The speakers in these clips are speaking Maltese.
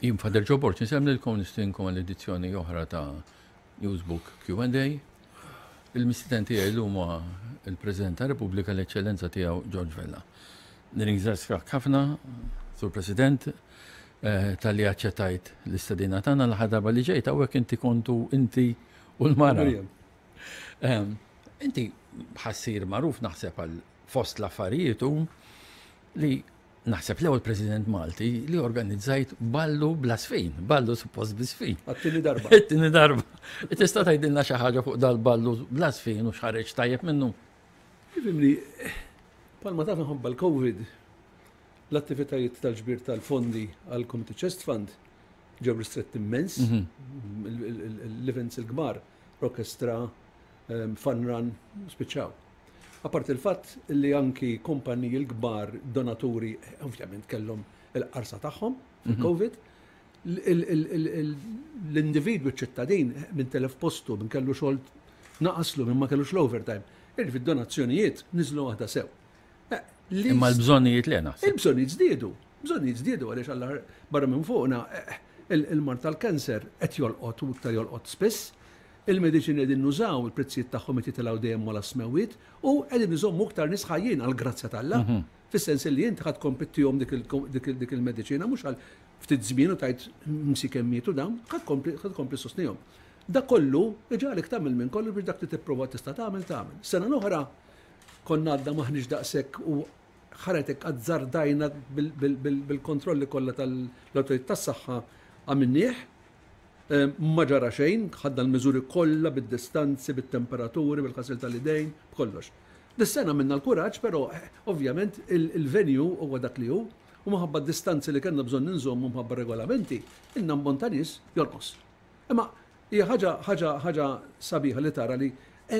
Jien Father Joe Borg insellmilkom nistedinkom għal edizzjoni oħra ta' Newsbook Q&A. Il-mistieden tiegħi llum huwa il-President ta' Repubblika l-Eċċellenza tiegħu George Vella. Nirringrazzjak ħafna, Sur President, eh, tal-li aċċettajt l-istedina tagħna l-aħħar darba li ġejt hawnhekk inti kontu inti u l-mara. Ehm, inti ħassir magħruf naħseb għal fost l-affarijiet u li Naħseb l-ewwel President Malti li organizzajt ballu bla sfin, ballu suppost bi sfin. Għat-tieni darba. Għat-tieni darba. Tista' tgħidilna xi ħaġa fuq dal-ballu bla sfin u x'ħareġ tajjeb minnu? Ifimni, palma taf minħabba l-Covid, l-attivitajiet tal-ġbir tal-fondi għal Community Chest Fund ġew ristretti immens, mhm. l-events il-kbar, orkestra, ehm, fun run, spiċċaw. Apparti l-fatt li anki kumpaniji l-kbar donaturi ovvjament kellhom il-qarsa tagħhom fil-Covid, l-individwu ċittadin minn telef postu, minn kellu xogħol naqaslu, minn ma kellux l-overtime. Irfi donazzjonijiet niżlu waħda sew. Eh, Imma l-bżonnijiet li naħseb. Il-bżonnijiet żdiedu. Bżonnijiet żdiedu għaliex alla barra minn fuqna eh, il-mard tal-kanser qed jolqot u iktar jolqot spiss. Il-mediċini qegħdin nużaw, il-prezzijiet tagħhom qed jitilgħu dejjem ogħla s-smewwiet u qegħdin iżommu iktar nies ħajjin għall-grazzja t'Alla. Fis-sens li inti ħa tkompli ttihom dik il-mediċina mhux għal ftit żmien u tgħid msiken mietu dawn, ħa tkompli ħa tkompli ssostnihom. Dak kollu iġagħlek tagħmel minn kollox biex dak li tipprova tista' tagħmel tagħmel. Sena l-oħra konna għadna m'aħniex daqshekk u ħaretek azzardajna bil-kontrolli kollha tal-awtoritajiet tas-saħħa għamilnieh. Ma ġara xejn, ħadna l-miżuri kollha bid-distanzi, bit-temperaturi, bil-ħasil tal-idejn, b'kollox. Dis-sena għamilna l-kuraġġ, però ovvjament il-venue huwa dak li hu u minħabba d-distanzi li kellna bżonn inżommu minħabba regolamenti, in-ammont ta' nies jonqos. Imma hija ħaġa ħaġa ħaġa sabiħa li tara li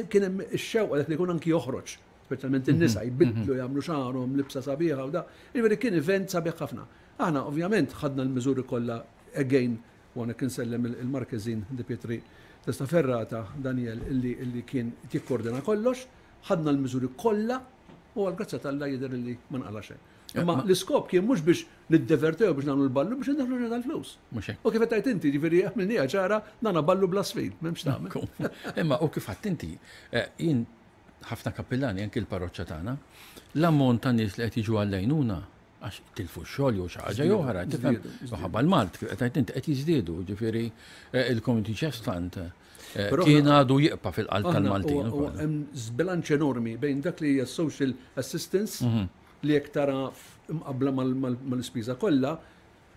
kien hemm ix-xewqa dak li jkun anki joħroġ, speċjalment in-nisa jbiddlu jagħmlu xagħarhom, libsa sabiħa u da. Jiġifieri kien event sabiħ ħafna. Aħna ovvjament ħadna l-miżuri kollha again U hawnhekk insellem il-Markeżin Di Pietri Testaferrata, Daniel, illi illi kien qed jikkordina kollox, ħadna l-miżuri kollha u għall-grazzja t'Alla jidher illi ma nqala' xejn. Imma l-iskop kien mhux biex niddevertu jew biex nagħmlu l-ballu biex indaħħlu ġurnata tal-flus. Mhux hekk. U kif qed tgħid inti, jiġifieri għamilniha ċara, dan ballu bla sfid, m'hemmx tagħmel. Imma u kif għedt inti, eh, jien ħafna kappillani anki l-parroċċa tagħna, l-ammont ta' nies li qed jiġu għall-għajnuna għax tilfu x-xogħol jew xi ħaġa jew oħra, tifhem? Minħabba l-mard kif qed inti qed jiżdiedu, ġifieri eh, il-Community Chest Fund eh, kien għadu jibqa' fil-qalb tal-Maltin. Hemm żbilanċ enormi bejn dak li hija social assistance mhm. li jekk tara mqabbla mal-ispiża kollha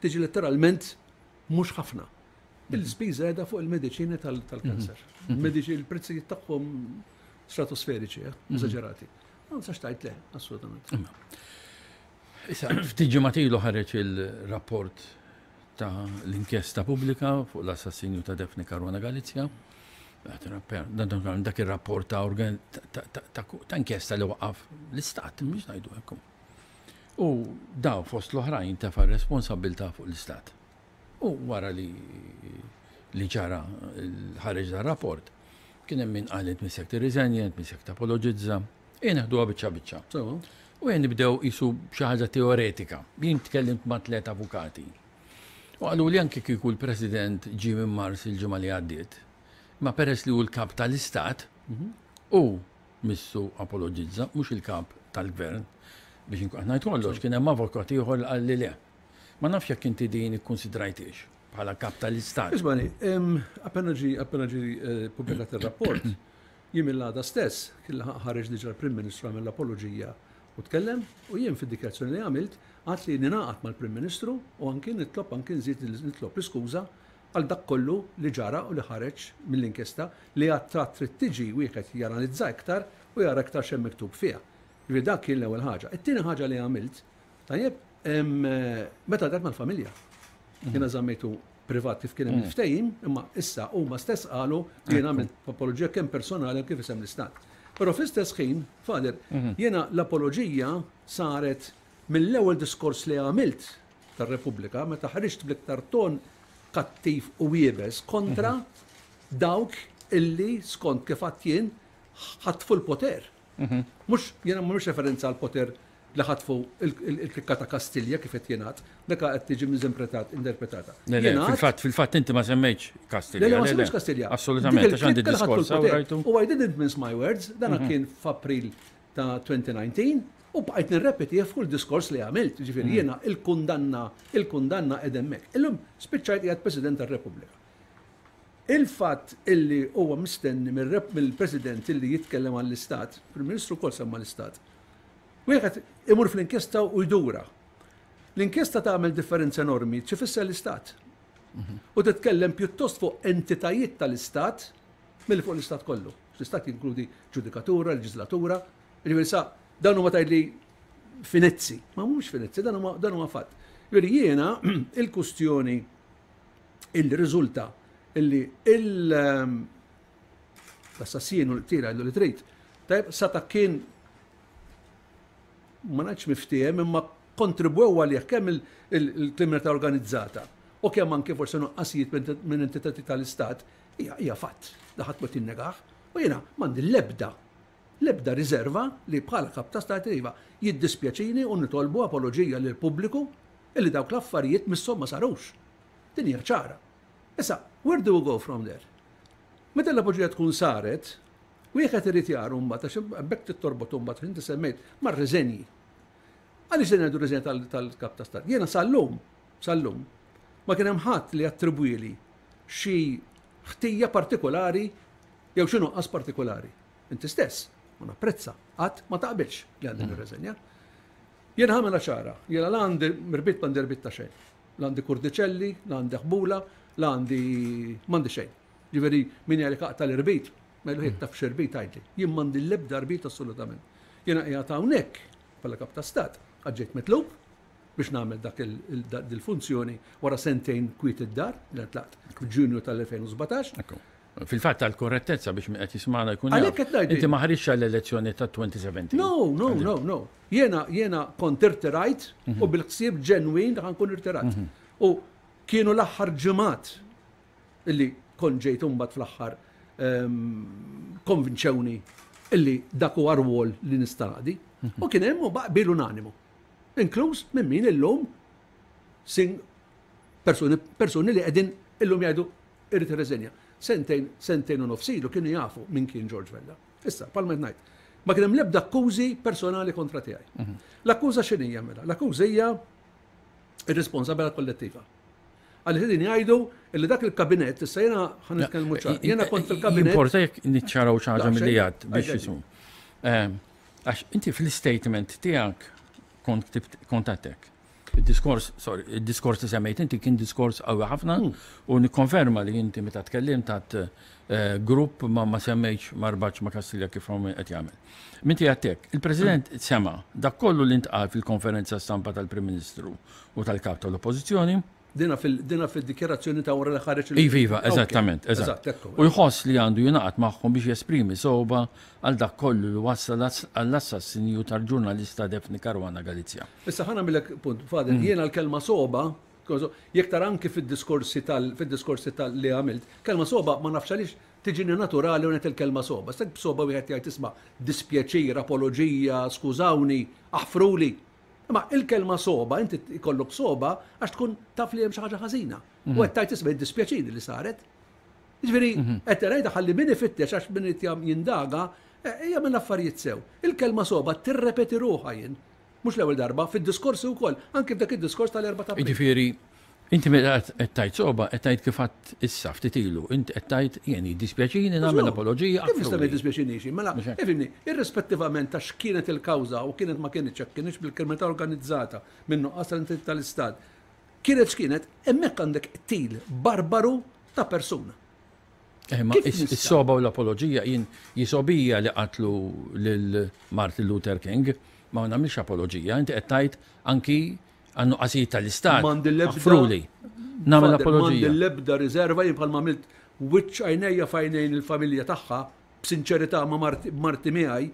tiġi letteralment mhux ħafna. Mhm. Il-spiża qiegħda fuq il-mediċini tal-kanser. Mhm. Il-prezzijiet tagħhom stratosferiċi, eh, eżaġerati. Ma nistax tgħid le, assolutament. Issa, ftit ġimgħat ilu ħareġ il-rapport ta' l-inkjesta pubblika fuq l-assassinju ta' Daphne Caruana Galizia. Dak ir-rapport ta' ta' inkjesta li waqaf l-istat, mhux ngħidu hekk. U daw fost l-oħrajn tefa' responsabbiltà fuq l-istat. U wara li li ġara ħareġ dar rapport, kien hemm min qal int missek tirriżenja, int missek tapologizza. Ejja neħduha biċċa biċċa. U ejja nibdew qisu xi ħaġa teoretika. Jien tkellimt ma' tliet avukati. U qalu li anke kieku l-President ġie minn Mars il-ġimgħa li għaddiet, ma peress li hu l-kap tal-Istat, mhm. u missu apologizza, mhux il-kap tal-gvern, biex inkun ngħid kollox, kien hemm avukat ieħor li qal li le. Ma nafx jekk inti din ikkunsidrajtix bħala kap tal-Istat. Ismani, appena ġie appena ġie eh, pubblikat ir-rapport, jien mill-għada stess, kien ħareġ diġà l-Prim Ministru għamel l-apoloġija u tkellem u jien fid-dikjarazzjoni li għamilt għad li ninaqat mal-Prim Ministru u anki nitlob anki nżid nitlob l-iskuża għal dak kollu li ġara u li ħareġ mill-inkjesta li għad trid tiġi wieħed janalizza iktar u jara iktar x'hemm miktub fiha. Jiġifieri dak kien l-ewwel ħaġa. It-tieni ħaġa li għamilt Tajjeb, meta dart mal-familja, jiena żammejtu privat kif kien hemm mm. il-ftehim, imma issa huma stess qalu li jiena għamilt apoloġija kemm personali kif isem l-istat. Però fl-istess ħin, Father, mhm. jiena l-apoloġija saret mill-ewwel diskors li għamilt tar-Repubblika meta ħriġt bl-iktar ton kattiv u iebes kontra mhm. dawk illi skont kif għadt jien ħatfu l-poter. Mhm. Mhux jiena mhux referenza għal poter li ħatfu il-klikka ta' Kastilja kif qed jingħad, dak qed tiġi miżimpretat interpretata. Fil-fatt, fil-fatt inti ma semmejtx Kastilja. Le, ma semmejtx Kastilja. Assolutament, għax għandi diskors rajtu. U I didn't mince my words, dan mhm. kien f'April ta' 2019 u bqajt nirrepeti f'kull diskors li għamilt, ġifieri mhm. jiena il-kundanna, il-kundanna edemmek. Illum spiċċajt qiegħed President tar-Repubblika. Il-fatt illi huwa mistenni mill-President illi jitkellem għall-Istat, Prim Ministru wkoll semma l-Istat, wieħed imur fl-inkjesta u jdura. L-inkjesta tagħmel differenza enormi x'ifisser l-Istat. U titkellem pjuttost fuq entitajiet tal-Istat milli fuq l-Istat kollu. L-Istat jinkludi ġudikatura, leġislatura, jiġifieri sa dan huma tgħidli finezzi. Ma mhumiex finezzi, dan huma dan huwa fatt. Jiġifieri jiena il-kustjoni illi riżulta illi ehm, l-assassin u l-qtira li trid, tajb sata kien ma ngħidx miftiehem imma kontribwew għalih kemm il-kriminalità organizzata u kemm anke forsi nuqqasijiet minn entitati tal-istat hija fatt da ħadd ma tinnegah u jiena m'għandi l-ebda l-ebda riserva li bħala kap ta' stat iva jiddispjaċini u nitolbu apoloġija lill-pubbliku illi dawk l-affarijiet misshom ma sarux. Din hija ċara. Issa, where do we go from there? Meta l-apoloġija tkun saret, wieħed irid jara mbagħad għax hemmhekk trid torbot imbagħad inti semmejt mar-riżenji. Għaliex se ngħidu riżenja tal-kap ta' stat? Jiena sal-lum, sal-lum, ma kien hemm ħadd li attribwili xi ħtija partikolari jew xi nuqqas partikolari. Inti stess, u napprezza, qatt ma taqbilx li għandi nirreżenja. Jien ħamela ċara, jiena la għandi mirbit m'għandi rbit ta' xejn. La għandi kurdiċelli, la għandi ħbula, la għandi m'għandi xejn. Ġifieri min jgħidlek aqta' l-irbit, ma jgħidlu jekk taf x'irbit għidli. Jien m'għandi l-ebda rbit assolutament. Jiena qiegħed hawnhekk bħala kap ta' stat, għax ġejt mitlub biex nagħmel dak il-funzjoni wara sentejn kwiet id-dar, li tlaqt f'Ġunju tal-2017. Fil-fatt għall-korrettezza biex min qed jismagħna jkun jaf. Għalhekk qed ngħid. Inti ma ħriġtx għall-elezzjoni ta' 2017. No, no, no, no. Jiena jiena kont irtirajt u bil-ħsieb ġenwin li ħa nkun irtirat. U kienu l-aħħar ġimgħat illi kont ġejt imbagħad fl-aħħar konvinċewni illi dak huwa rwol li nista' naqdi. U kien hemm u qbil unanimu. Inkluż minn min illum sing persuni persuni li qegħdin illum jgħidu Irid irreżenja. Sentejn, sentejn u nofs ilu kienu jafu min kien George Vella. Issa, bħalma qed ngħid, ma kien hemm l-ebda akkużi personali kontra tiegħi. Mhm. L-akkuża x'inhija mela? L-akkuża hija ir-responsabilità kollettiva. Għalli din jgħidu li dak il-kabinett, issa jiena ħan nitkellmu ċar, jiena kont fil-kabinett. Importa jekk niċċaraw xi ħaġa milli għad biex jisum. Ehm, għax inti fl-istatement tiegħek kont kont għattek. Id-diskors, sorry, id-diskors li semmejt inti kien diskors qawwi ħafna hmm. u nikkonferma li inti meta tkellimt għat eh, grupp ma ma semmejtx ma rbatx ma Kastilja kif hawn qed jagħmel. Minti għattek, il-President hmm. sema dak kollu li ntqal fil-konferenza stampa tal-Prim Ministru u tal-Kap tal-Oppożizzjoni Dina fil-dikjarazzjoni ta' wara li ħareġ il- Iva, iva, eżattament, eżatt. U jħoss li għandu jingħaqad magħhom biex jesprimi sogħba għal dak kollu li wassal għall-assassinju tal-ġurnalista Daphne Caruana Galizia. Issa ħa nagħmilek punt, Father, jiena l-kelma sogħba, jekk tara anki fid-diskorsi tal, fid-diskorsi tal li għamilt, kelma sogħba ma nafx għaliex tiġini naturali u ngħid il-kelma sogħba. Issa b'sogħba wieħed jgħid isma' dispjaċir, apoloġija, skużawni, aħfruli. Imma il-kelma sogħba, inti jkollok sogħba għax tkun taf li hemm xi ħaġa ħażina. U mhm. qed tgħid isma' jiddispjaċini li saret. Jiġifieri mhm. qed tgħidha ħalli min ifittex għax min qed jindaga eh, hija minn affarijiet sew. Il-kelma sogħba tirrepeti ruħha jien. Mhux l-ewwel darba, fid-diskorsi wkoll, anke f'dak id-diskors tal-erba' ta' Jiġifieri, Inti meta qed tgħid sogħba qed tgħid kif għadt issa ftit ilu, inti qed tgħid jien jiddispjaċini nagħmel apoloġija. Kif nista' ma jiddispjaċinix? Mela, ifhimni, irrispettivament ta' x'kienet il-kawża u kienet ma kinitx, jekk kinitx bil-kriminalità organizzata minn nuqqas tal-entità tal-Istat, kienet x'kienet, hemmhekk għandek qtil barbaru ta' persuna. Eh, ma is-soba u l-apoloġija jien jisobija li qatlu lil Martin Luther King, ma nagħmilx apoloġija, inti qed tgħid anki Għan-nuqqasijiet tal-Istat. M'għandi l-ebda. Aħfruli. Nagħmel apoloġija. M'għandi l-ebda riserva jien bħalma għamilt wiċċ għajnejja f'għajnejn il-familja tagħha b'sinċerità ma' marti miegħi,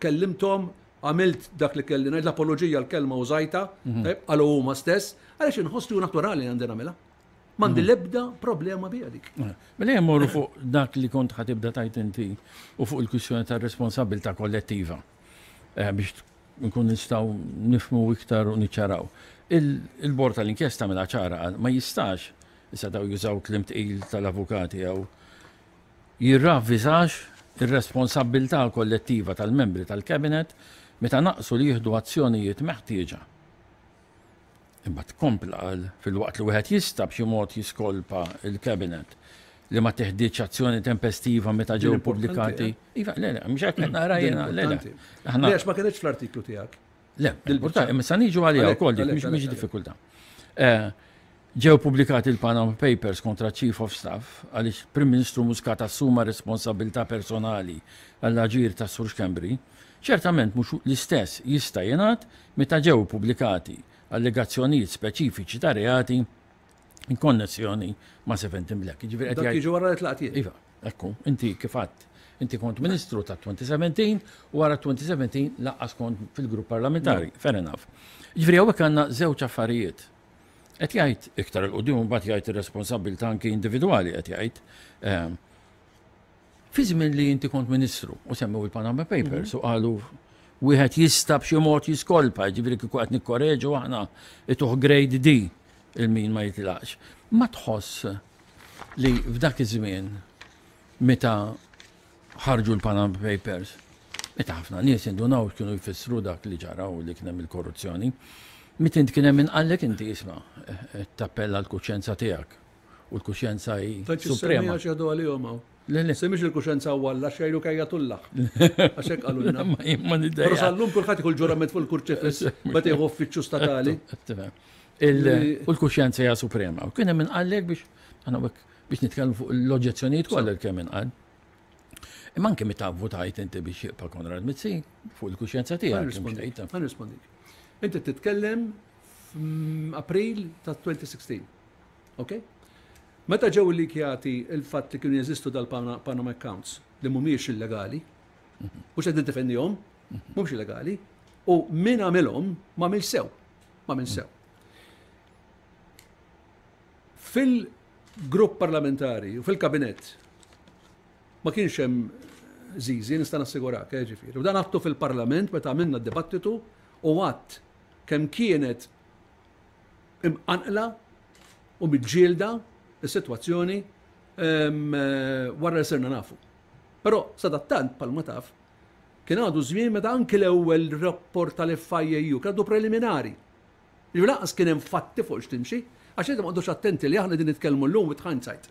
kellimthom, għamilt dak li kelli ngħid, l-apoloġija l-kelma użajtha, mhm. qalu huma stess, għaliex inħoss li hu naturali li għandi nagħmilha. M'għandi mhm. l-ebda problema biha dik. Mhm. Mela jemmorru morru fuq dak li kont ħatibda tajt inti u fuq il-kwistjoni tar-responsabilità kollettiva eh, biex nkun nistgħu nifhmu iktar u niċċaraw. Il-bord tal-inkjesta mela ċara qal ma jistax, issa daw jużaw kliem tqil tal-avukati jew jirravviżax ir-responsabbiltà kollettiva tal-membri tal-Cabinet meta naqsu li jieħdu azzjonijiet meħtieġa. Imbagħad kompla qal filwaqt li wieħed jista' b'xi mod jiskolpa l-Cabinet li ma teħdietx azzjoni tempestiva meta ġew pubblikati. Eh? Iva, le, le, mhux hekk qed naqra jiena, le, le. Le, għax ma kinitx fl-artiklu tiegħek. Le, importanti, imma sa niġu għaliha wkoll dik mhix diffikultà. Eh, ġew pubblikati l-Panama Papers kontra Chief of Staff għaliex Prim Ministru Muscat assuma responsabilità personali għall-aġir ta' Sur Schembri, ċertament mhux l-istess jista' jingħad meta ġew ippubblikati allegazzjonijiet speċifiċi ta' reati in konnessjoni ma' Seventeen Black. Jiġifieri qed jgħid. Jiġu wara li tlaqt jien. Iva, ekku, inti kif għadt. Inti kont ministru ta' 2017 u wara 2017 laqqas kont fil-grupp parlamentari. Fair enough. Jiġifieri hawnhekk għandna żewġ affarijiet. Qed jgħid iktar 'il quddiem imbagħad jgħid ir-responsabbiltà anki individwali qed jgħid. Ehm, Fi żmien li inti kont ministru u semmew il-Panama Papers u qalu wieħed jista' b'xi mod jiskolpa, ġifieri kieku qed nikkoreġu aħna ituh grade D il-min ma jitlaqx. Ma tħoss li f'dak iż-żmien meta ħarġu l-Panama Papers, meta ħafna nies indunaw x'kienu jfissru dak li ġara u li kien hemm il-korruzzjoni, meta int kien hemm min qallek inti isma' tappella l-kuxjenza tiegħek. U l-kuxjenza hi suprema. Għax jgħidu għalihom hawn. Le, le. Semmix il-kuxjenza u Alla xejlu kejja tullaħ. Għax hekk qalulna. Ma niddejja. Però sal-lum kulħadd ikun ġurament fuq il-kurċifiss meta jieħu uffiċċju statali. U l-kuxjenza hija suprema. U kien hemm inqallek biex aħna biex nitkellmu fuq l-oġġezzjonijiet kollha li kemm inqal. Imma anke meta votajt inti biex jibqa' Konrad Mizzi fuq il-kuxjenza tiegħek. Ħa nirrispondik. Inti titkellem f'April ta' 2016. Ok? Meta ġew illikjati il-fatt li kienu jeżistu dal-Panama Accounts li mhumiex illegali, mhux qed niddefendihom, mhumiex illegali, u min għamilhom ma għamilx sew, ma għamilx sew. Fil-grupp parlamentari u fil-kabinett ma kienx hemm żiżi, nista' nassigurak, eh, ġifieri. U dan għattu fil-Parlament meta għamilna d-dibattitu u għadd kemm kienet imqanqla u miġġielda s-sitwazzjoni wara li sirna nafu. Però sadattant bħalma taf kien għadu żmien meta anki l-ewwel rapport tal-FIAU kien għadu preliminari. Ġifieri lanqas kien hemm fatti fuq x'timxi, għax inti ma qgħodux attenti li aħna din nitkellmu llum with hindsight.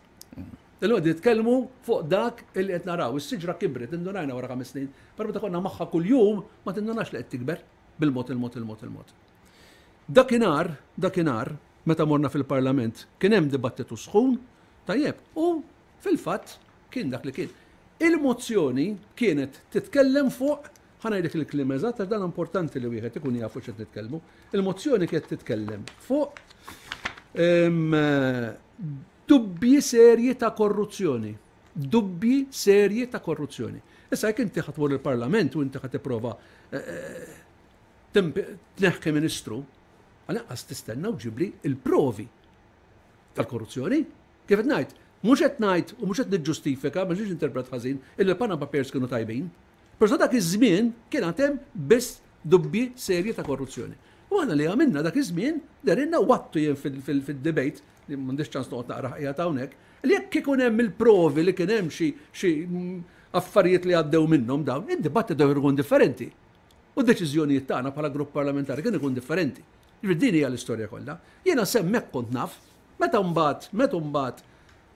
Illum qegħdin nitkellmu fuq dak illi qed naraw. Is-siġra kibret, indunajna wara ħames snin, però meta konna magħha kuljum ma tindunax li qed tikber bil-mod il-mod il-mod il-mod. Dakinhar, dakinhar, meta morna fil-Parlament, kien hemm dibattitu sħun, tajjeb, u fil-fatt kien dak li kien. Il-mozzjoni kienet titkellem fuq, ħa ngħidlek il-kliem eżatt għax dan importanti li wieħed ikun jaf fuq x'qed nitkellmu. Il-mozzjoni kienet titkellem fuq dubbji serji ta' korruzzjoni. Dubbji serji ta' korruzzjoni. Issa jekk inti ħa tmur il-Parlament u inti ħa tipprova eh, eh, Tneħħi ministru, għal-inqas tistenna u ġibli il-provi tal-korruzzjoni. Kif qed ngħid, mhux qed ngħid u mhux qed niġġustifika, ma ġiex interpret ħażin, illi l-Panama Papers kienu tajbin. Però dak iż-żmien kien għad hemm biss dubbji serji ta' korruzzjoni. U aħna li għamilna dak iż-żmien derinna wattu jien fil-debate li m'għandix ċans noqgħod naqra qiegħed hawnhekk, li jekk ikun hemm il-provi li kien hemm xi affarijiet li għaddew minnhom dawn, id-dibattitu jkun differenti. U d-deċiżjonijiet tagħna bħala grupp parlamentari kien ikun differenti. Jiġifieri din hija l-istorja kollha. Jiena s'hemmhekk kont naf. Meta mbagħad, meta mbagħad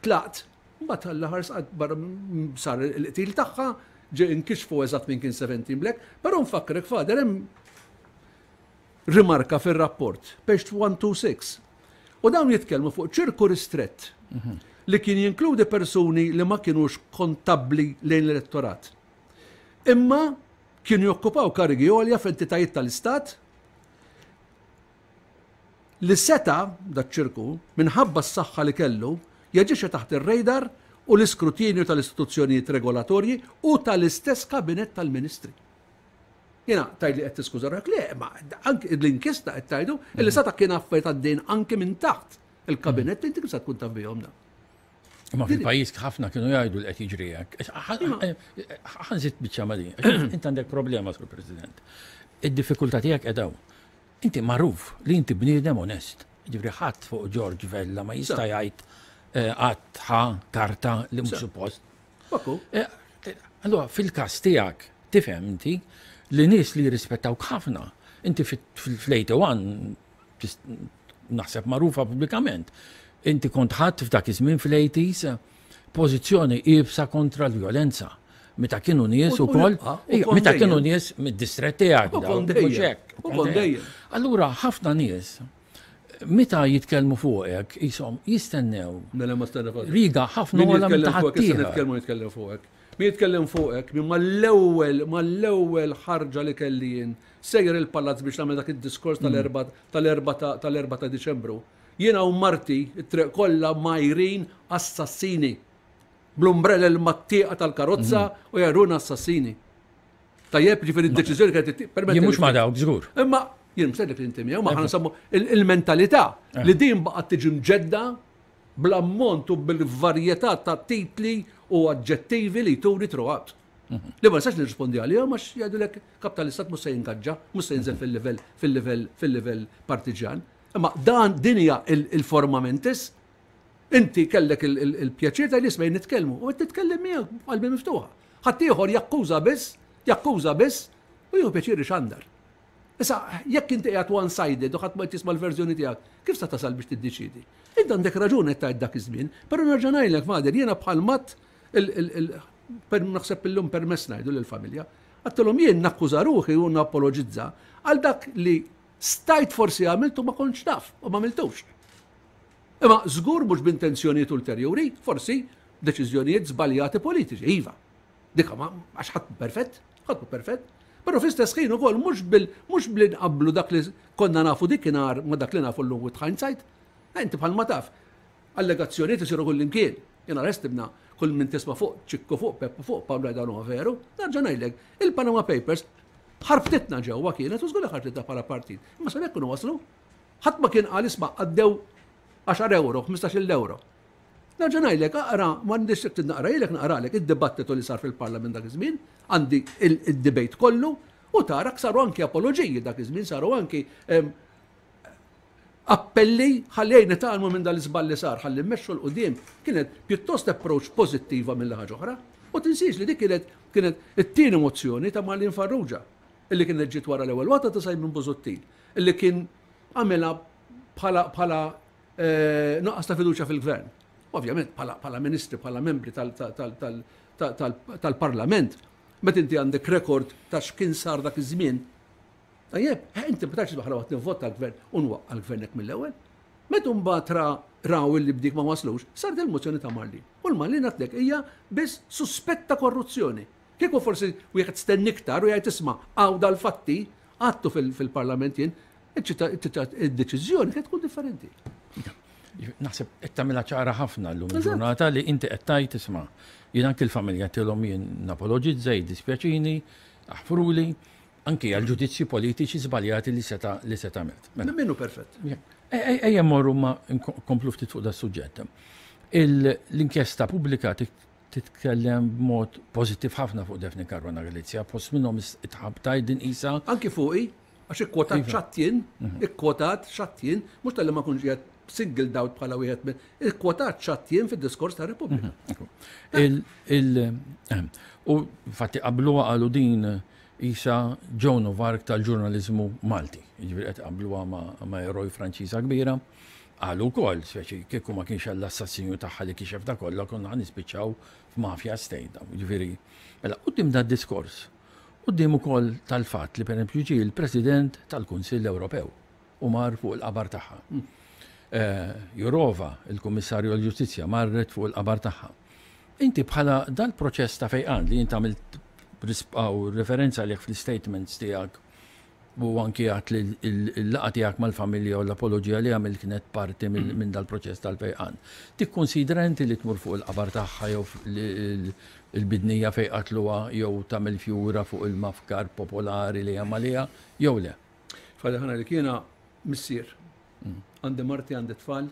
tlaqt, mbagħad Alla ħares barra sar il-qtil tagħha, ġie inkixfu eżatt min kien 17 Black, però nfakkrek Father hemm rimarka fir-rapport, page 126. U dawn jitkellmu fuq ċirku ristrett li kien jinkludi persuni li ma kinux kontabbli lejn l-elettorat. Imma kienu jokkupaw karigi għolja f'entitajiet tal-Istat li seta', daċ-ċirku, minħabba s-saħħa li kellu, jaġixxi taħt ir-radar u l-iskrutinju tal-istituzzjonijiet regolatorji u tal-istess Kabinett tal-Ministri. Jiena tgħidli qed tiskuża ruħek, le, ma anki l-inkjesta qed tgħidu li seta' kien affarijiet għaddejn anki minn taħt il-Kabinett inti kif se tkun taf bihom dawn? Imma fil-pajjiż ħafna kienu jgħidu li qed jiġri hekk. Ħanżid biċċa ma' din. Int għandek problema, Sur President. Id-diffikultà tiegħek qiegħda hawn. Inti magħruf li inti bniedem onest. Ġifieri ħadd fuq George Vella ma jista' jgħid qatt ħa karta li mhux suppost. Eh, allura fil-każ tiegħek tifhem inti li nies li jirrispettawk ħafna, inti fl-81 naħseb magħrufa pubblikament, inti kont ħadd f'dak iż-żmien fl-80s pożizzjoni iebsa kontra l-vjolenza. Meta kienu nies ukoll, meta kienu nies mid-distrett tiegħek. Mhux hekk. Allura ħafna nies meta jitkellmu fuqek, jisom jistennew. Mela ma stenna fuqek. Riga ħafna wara minn taħt. Nitkellmu nitkellem fuqek. Min jitkellem fuqek, min mal-ewwel mal-ewwel ħarġa li kelli jien sejjer il-palazz biex nagħmel dak id-diskors tal-erba tal-erba tal-erba ta' Diċembru. Jiena u marti t-triq kollha majrin assassini. Bl-umbrella mat-tieqa tal-karozza u jaruna assassini. Tajjeb, ġifieri d-deċiżjoni kienet Jien mhux ma dawk żgur. Imma jien mhux li inti miegħu, ma ħana nsemmu il-mentalità eh. li din baqgħet tiġi mġedda bl-ammont u bil-varjetà ta' titli u aġġettivi li turi throughout. Mhm. Li ma nistax nirrispondi għalihom għax jgħidulek kap tal-istat mhux se jingaġġa, mhux se jinżel mhm. fil-livell fil-livell fil-livell partiġan. Imma dan din hija il-forma mentis. Inti kellek il-pjaċir ta' nisma' nitkellmu u qed titkellem miegħek b'qalbi miftuħa. Ħaddieħor jakkuża biss, jakkuża biss u jieħu pjaċir ixandar. Issa, jekk inti qiegħed one-sided u ħadd ma jtisma' l-verżjoni tiegħek, kif sa tasal biex tiddeċiedi? Int għandek raġun qed tgħid dak iż-żmien, però nerġa' ngħidlek Father, jiena bħal mat naħseb illum permess ngħidu lill-familja, għedtilhom jien nakkuża ruħi u napologizza għal dak li stajt forsi għamiltu ma kontx naf u ma għamiltux. Imma żgur mhux b'intenzjonijiet ulterjuri, forsi deċiżjonijiet żbaljati politiċi, iva. Dika ma għax ħadd perfett, ħadd perfett. Però fl-istess ħin ukoll mhux bil mhux bli nqabblu dak li konna nafu dikinhar ma dak li nafu llum with hindsight. Eh, inti bħalma taf, allegazzjonijiet isiru kull imkien. Jiena restibna kull min tisma' fuq ċikku fuq Peppu fuq Pawlu dan huwa veru. Nerġa' ngħidlek, il-Panama Papers ħarbtitna ġewwa kienet u żgur li ħarbtitna bħala partit. Imma sa kienu waslu. Ħadd ma kien qal isma' għaddew 10 euro, 15 euro. Nerġa' ngħidlek, aqra, m'għandix trid naqra naqralek id-dibattitu li sar fil-Parlament dak iż-żmien, għandi id-debate kollu, u tara saru anki apoloġiji dak iż-żmien, saru anki appelli ħalli nitgħallmu minn dal-iżball li sar, ħalli mmexxu 'l quddiem. Kienet pjuttost approach pożittiva mill ħaġa oħra. U tinsiex li dik kienet kienet it-tieni mozzjoni ta' Marlene Farrugia, illi kienet ġiet wara l-ewwel waħda ta' Simon Busuttil, illi kien għamilha bħala bħala eh, nuqqas ta' fiduċja fil-gvern. Ovvjament bħala ministri, bħala membri tal-parlament, meta inti għandek rekord ta' x'kien sar dak iż-żmien, tajjeb, eh, inti ma tax bħala waqt nivvota l-gvern u nwaqqa' l-gvern hekk mill-ewwel. Meta mbagħad ra raw illi b'dik ma waslux, saret il-mozzjoni ta' Marlene. U l-Marlene għatlek hija biss suspett ta' korruzzjoni. Kieku forsi wieħed stenni iktar u jgħid isma' hawn dal-fatti, għadtu fil-parlament jien, id-deċiżjoni kienet tkun differenti. Naħseb qed tagħmilha ċara ħafna llum il-ġurnata li inti qed tgħid isma' jien anki l-familja tilhom jien napologizza, jiddispjaċini, aħfruli, anki għal ġudizzji politiċi żbaljati li seta' li seta' għamilt. Mela. Minnu perfett. Ejja mmorru ma nkomplu ftit fuq da suġġett. L-inkjesta pubblika titkellem b'mod pożittiv ħafna fuq Daphne Caruana Galizia, fost minnhom itħabtaj din isa. Anki fuqi, għax ikkwotat iva. xattien, mhm. ikkwotat xattien, mhux tal-li ma kunx qiegħed singled out bħala wieħed minn, ikkwotat xattien fid-diskors ta' Repubblika. Mhm. Ehm, u fatti qablu qalu din isa Joan of Arc tal-ġurnaliżmu Malti. Jiġifieri qed qabluha ma' eroj Franċiża kbira. Qalu wkoll, speċi kieku ma kienx għall-assassinju tagħha li kixef da kollha konna ħa nispiċċaw f'mafia state. Jiġifieri, mela quddiem da diskors, quddiem ukoll tal-fatt li pereżempju ġie l-President tal-Kunsill Ewropew u mar fuq il-qabar tagħha. Eh, Jourova, il-Kummissarju għall-Ġustizzja, marret fuq il-qabar tagħha. Inti bħala dal-proċess ta' fejqan li inti għamilt referenza għalih fl-statements tiegħek U anki għat li l-laqgħa tiegħek mal-familja u l-apoloġija li għamilt kienet parti minn dal-proċess tal-fejqan. Tikkunsidra inti li tmur fuq il-qabar tagħha jew il-bidnija fejn qatluha jew tagħmel fjura fuq il-mafkar popolari li hemm għaliha jew le? Father Ħana jiena missier. Għandi marti, għandi tfal,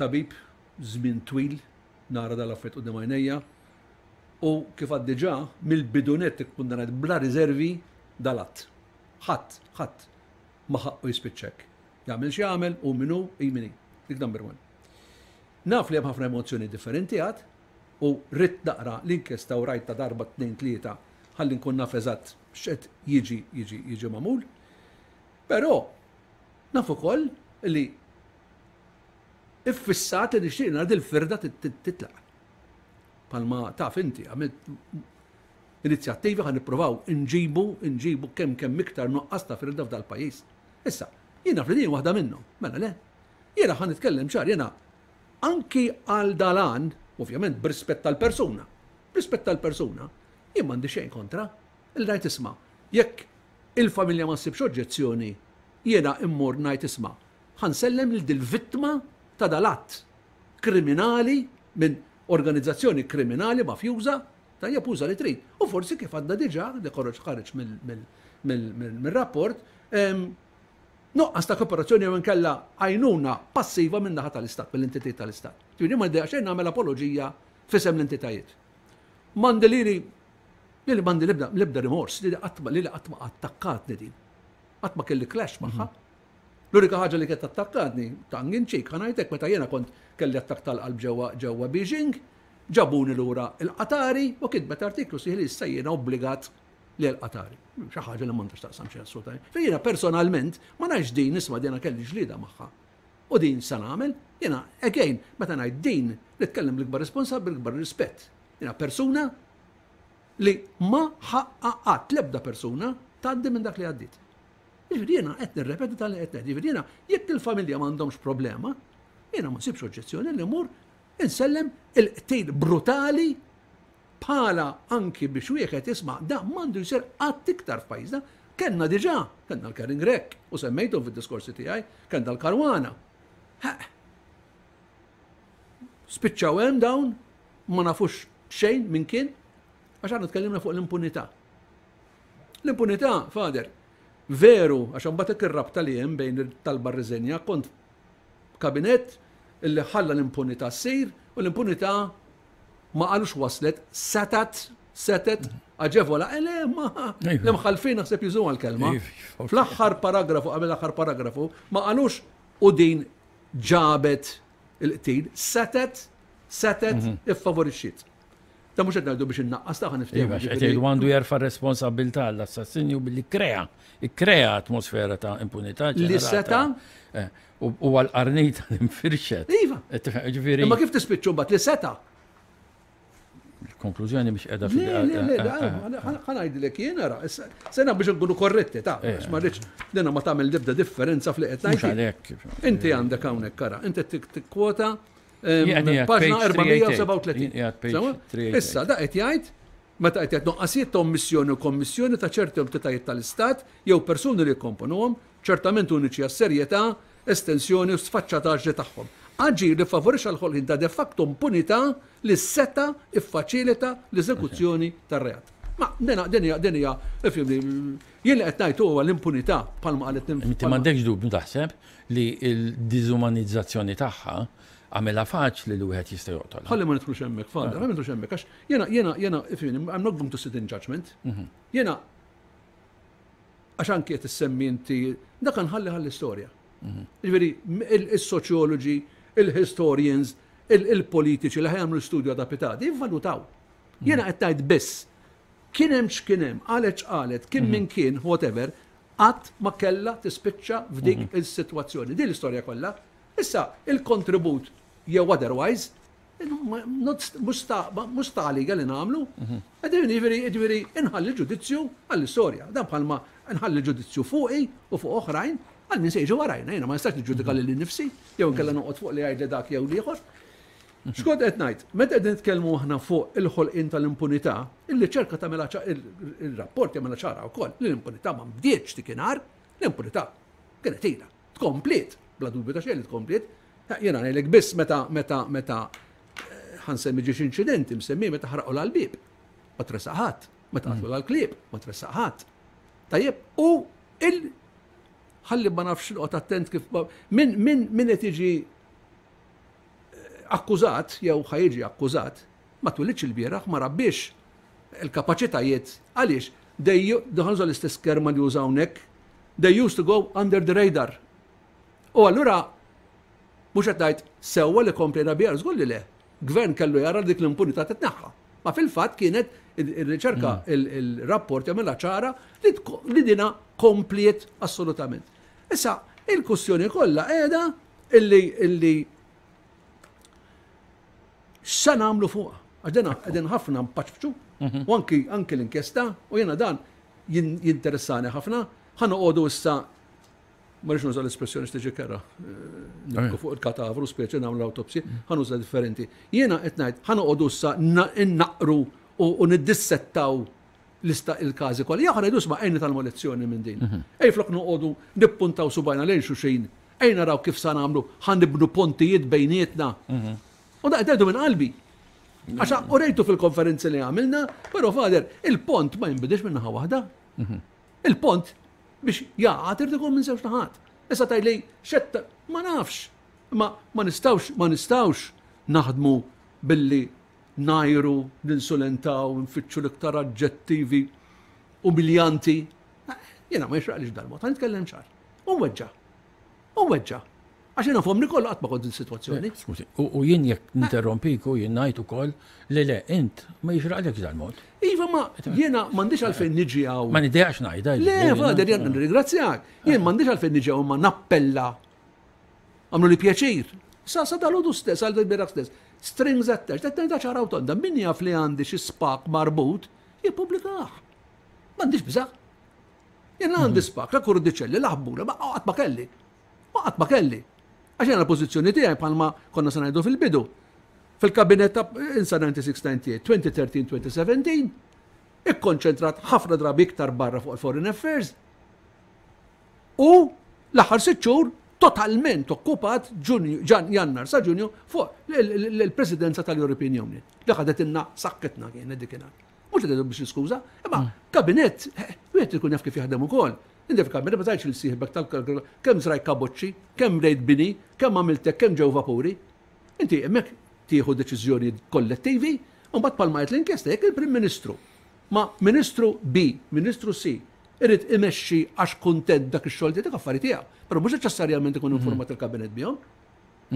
tabib, żmien twil, nara dal-affarijiet quddiem għajnejja, U kif għad diġà, mill-bidu nett ikkundannajt bla riżervi dal-att. Ħadd, ħadd ma ħaqqu jispiċċa hekk. Jagħmel x'jagħmel hu min hu, hi min hi. Dik number one. Naf li hemm ħafna emozzjoni differenti għad u ridt naqra l-inkjesta u rajtha darba tnejn tlieta ħalli nkun naf eżatt x'qed jiġi jiġi jiġi magħmul. Però naf ukoll li iffissat li nixtieq nara dil-firda titlaq. Palma taf inti għamilt inizjattivi ħa nippruvaw inġibu inġibu kemm kemm iktar nuqqas ta' firda f'dal-pajjiż. Issa, jien naf li din waħda minnhom, mela le. Jiena ħa nitkellem ċar, jiena anki għal dal-għan, ovvjament b'rispett tal-persuna, b'rispett tal-persuna, jien m'għandi xejn kontra li ngħid isma' jekk il-familja ma ssibx oġġezzjoni jiena immur ngħid isma' ħa nsellem lil dil-vittma ta' dal-att kriminali minn organizzazzjoni kriminali mafjuża, tajjeb uża li trid. U forsi kif għadna diġà, li ħoreġ ħareġ mill-rapport, nuqqas ta' kooperazzjoni jew inkella għajnuna passiva min-naħa tal-Istat, mill-entitajiet tal-Istat. Ġifieri ma ddejjaq xejn nagħmel apoloġija f'isem l-entitajiet. M'għandi lili lili m'għandi l-ebda l-ebda rimors, lili qatt ma lili qatt ma attakkatni din. Qatt ma kelli clash magħha. L-unika ħaġa li kienet attakkatni, tongue in cheek, ħa ngħidlek meta jiena kont kelli attakk tal-qalb ġewwa ġewwa Beijing, ġabuni lura l-Qatari u kitbet artiklu sħiħ li issa jiena obbligat li l-Qatari. Xi ħaġa li m'għandha x'taqsam xejn assolutament. Fejn jiena personalment ma ngħidx din isma' din kelli ġlieda magħha. U din sa nagħmel, jiena again, meta ngħid din, nitkellem bl-ikbar responsabbli, bl-ikbar rispett. Jiena persuna li ma ħaqqa qatt l-ebda persuna tgħaddi minn dak li għaddiet. Jiġifieri jiena qed nirrepeti tal-li qed ngħid. Jiġifieri jiena jekk il-familja m'għandhomx problema, jiena ma nsibx oġġezzjoni li mmur insellem il-qtil brutali bħala anki biex wieħed jisma' da m'għandu jsir qatt iktar f'pajjiżna. Kellna diġà, kellna l-Karin Grech u semmejthom fid-diskorsi tiegħi, kellna l-Karwana. Spiċċaw hemm dawn, ma nafux xejn minn kien, għax aħna tkellimna fuq l-impunità. L-impunità, Father, veru, għax imbagħad hekk ir-rabta li hemm bejn it-talba r-riżenja, kont kabinett illi ħalla l-impunità ssir u l-impunità ma qalux waslet, setat, setet, aġevola, eh, le, ma l-imħalfin naħseb jużuha l-kelma. Fl-aħħar paragrafu, qabel l-aħħar paragrafu, ma qalux u din ġabet il-qtil, setet, setet, iffavorixxiet. Ta' mhux qed ngħidu biex innaqqas ta' niftehmu. Iva, qed jgħidu għandu jerfa' responsabilità għall-assassinju billi krea, ikkrea atmosfera ta' impunità. Li seta' eh, u għal-qarnita li nfirxet. Iva. Eh, ġifieri. Imma kif tispiċċu mbagħad li seta' Il-konklużjoni biex qiegħda fil Le, le, le, eh, ħa ngħidlek jien ara, sena biex nkunu korretti ta' għax ma rridx dina ma tagħmel l-ebda differenza fl qed ngħid. Inti għandek hawnhekk ara, inti tikkwota Paġna 437. Issa, da qed jgħid meta qed jgħid noqqasijiet ta' ommissjoni u kommissjoni ta' ċerti entitajiet tal-Istat jew persuni li jikkomponuhom, ċertament uniċi għas-serjetà, estensjoni u sfaċċataġni tagħhom. Aġir li ffavorixxa l-ħolqien ta' de facto impunità li seta' ffaċilita l-eżekuzzjoni tar-reat. Ma din hija din hija ifhimni, jien li qed ngħid huwa l-impunità bħalma qalet Inti m'għandekx dubju taħseb li l-diżumanizzazzjoni tagħha għamilha faċli li wieħed jista' joqtolha. Ħalli ma nidħlux hemmhekk, Father, ħalli ma nidħlux hemmhekk, għax jiena, jiena, jiena, ifhimni, I'm not going to sit in judgment. Jiena, għax anki qed issemmi inti, dak nħalli ħalli istorja. Jiġifieri, is-soċjoloġi, il-historians, il-politiċi li ħa jagħmlu studju għada pitgħada, jivvalutaw. Jiena qed ngħid biss, kien hemm x'kien hemm, qalet x'qalet, kien min kien, whatever, qatt ma kellha tispiċċa f'dik is-sitwazzjoni. Din l-istorja kollha. Issa, il-kontribut jew otherwise, mhux ta' għalija li nagħmlu. Ġifieri, ġifieri, inħalli ġudizzju għall-istorja. Dan bħalma nħalli ġudizzju fuqi u fuq oħrajn għal min se jiġi warajna. Jiena ma nistax niġġudika lili nnifsi jew inkella noqgħod fuq li jgħid li dak jew l-ieħor. X'kont qed ngħid? Meta qegħdin nitkellmu aħna fuq il-ħolqien tal-impunità, illi ċerka tagħmilha il-rapport jagħmilha ċara wkoll li l-impunità ma bdietx dikinhar, l-impunità kienet ilha. Tkompliet, bla dubju ta' xejn li tkompliet. Jiena ngħidlek biss meta meta meta eh, ħa nsemmi ġiex inċidenti msemmi meta ħarqu l-bieb. Ma tressaq ħadd, meta qatlu l-klieb, ma tressaq ħadd. Tajjeb, u il ħalli ma nafx noqgħod attent kif min min min qed jiġi akkużat jew ħa jiġi akkużat ma twilidx il-bieraħ ma rabbiex il-kapaċitajiet għaliex dejju ħa nuża l-istess kelma li użaw hawnhekk. They used to go under the radar. U allura mhux qed ngħid sewwa li komplejna biha, żgur li le. Gvern kellu jara dik l-impunità titneħħa. Ma fil-fatt kienet ir-riċerka il-rapport jagħmilha ċara li dina kompliet assolutament. Issa, il-kwistjoni kollha qiegħda illi illi x'sa nagħmlu fuqha. Għax dina qegħdin ħafna mpaċċu u anki anki l-inkjesta u jiena dan jinteressani ħafna. Ħa noqogħdu issa ma rridx nuża l-espressjoni x'tiġi kera. Nibku fuq il-katavru speċi nagħmlu autopsy, ħa nuża differenti. Jiena qed ngħid ħa noqogħdu issa innaqru u niddissettaw lista il-każi kollha. Jew ħa ngħidu isma' ejja nitgħallmu lezzjoni minn din. Ej flok noqogħdu nippuntaw subajna lejn xulxin, ejja naraw kif sa nagħmlu ħa nibnu pontijiet bejnietna. U da qed ngħidu minn qalbi. Għax urejtu fil-konferenzi li għamilna, però Father, il-pont ma jinbidix minn naħa waħda. Il-pont biex jaqgħad irid ikun minn żewġ naħat. Issa tgħidli xetta ma nafx. Ma ma nistgħux ma nistgħux naħdmu billi ngħajru, ninsulentaw, nfittxu l-iktar aġġettivi umiljanti. Jiena ma jixraqlix dal-mod, ħa nitkellem ċar. U weġġa. U weġġa. Għax jiena f'għomri kollu qatt ma kont din sitwazzjoni. Skużi, u jien jekk ninterrompik u jien ngħid ukoll li le, int ma jixraqlekx dal-mod. Iva ma jiena m'għandix għalfejn niġi hawn. Ma nidejaqx ngħidha. Le, Father, jien nirringrazzjak. Jien m'għandix għalfejn niġi hawn ma nappella. Għamlu li pjaċir. Sa sa dal-għodu stess, għal dal-bieraħ stess. Strings attached, qed ngħidha ċara u tonda, min jaf li għandi xi spak marbut, jippubblikah. M'għandix biża'. Jien għandi spak, la kurdiċelli, la ħbula, ma qatt ma kelli. Ma qatt ma kelli. Għax jiena l-pożizzjoni tiegħi bħalma konna se ngħidu fil-bidu. Fil-kabinet ta' insa 96-98, 2013-2017, ikkonċentrat ħafna drabi iktar barra fuq il-foreign affairs u l-aħħar 6 xhur totalment okkupat Ġunju, Jannar sa Ġunju fuq l-presidenza tal-European Union. Li ħadet inna sakketna kienet dikinhar. Mhux qed biex niskuża, imma kabinett, wieħed ikun jaf kif jaħdem ukoll. Inti f'kabinett ma tgħidx lil sieħbek tal kemm żrajt kaboċċi, kemm bdejt bini, kemm għamilt hekk, kemm ġew vapuri. Inti hemmhekk tieħu deċiżjonijiet kollettivi, u mbagħad bħalma qed l-inkjesta jekk il-Prim Ministru ma' Ministru B, Ministru C, irid imexxi għax kuntent dak ix-xogħol tiegħek affari tiegħu. Però mhux neċessarjament ikun informat il-kabinett bihom.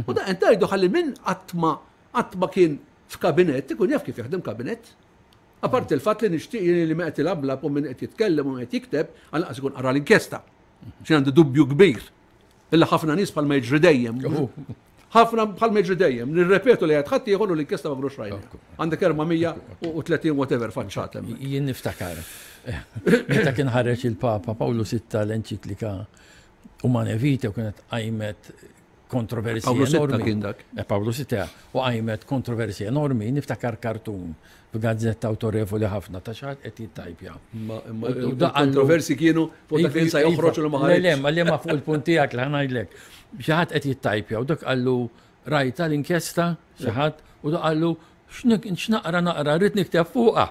U da qed ngħidu ħalli min qatt ma qatt ma kien f'kabinett ikun jaf kif jaħdem kabinett. Apparti il-fatt li nixtieq jien li min qed ilablab u min qed jitkellem u min qed jikteb, għall-anqas ikun qara l-inkjesta. Xi għandi dubju kbir illi ħafna nies bħalma jiġri dejjem. Ħafna bħalma jiġri dejjem, nirrepetu li qed ħadd ieħor u l-inkjesta ma kinux rajna. Għandek 430 whatever faċċat hemm. Jien niftakar. Meta kien ħareġ il-Papa Pawlu Sitta l-enċiklika Humanae Vitae u kienet qajmet kontroversji Pawlu Sitta kien dak. Eh, Pawlu Sitta u qajmet kontroversji enormi, niftakar kartun f'gazzetta awtorevoli ħafna ta' xi ħadd qed jittajpja. Ma il-kontroversi kienu fuq dak li sa joħroġ u ma ħareġ. Le, ma le ma fuq il-punt tiegħek li ħanajdlek. Xi ħadd qed jittajpja u dak qallu rajta l-inkjesta xi ħadd u dak qallu x'naqra naqra rrid nikteb fuqha.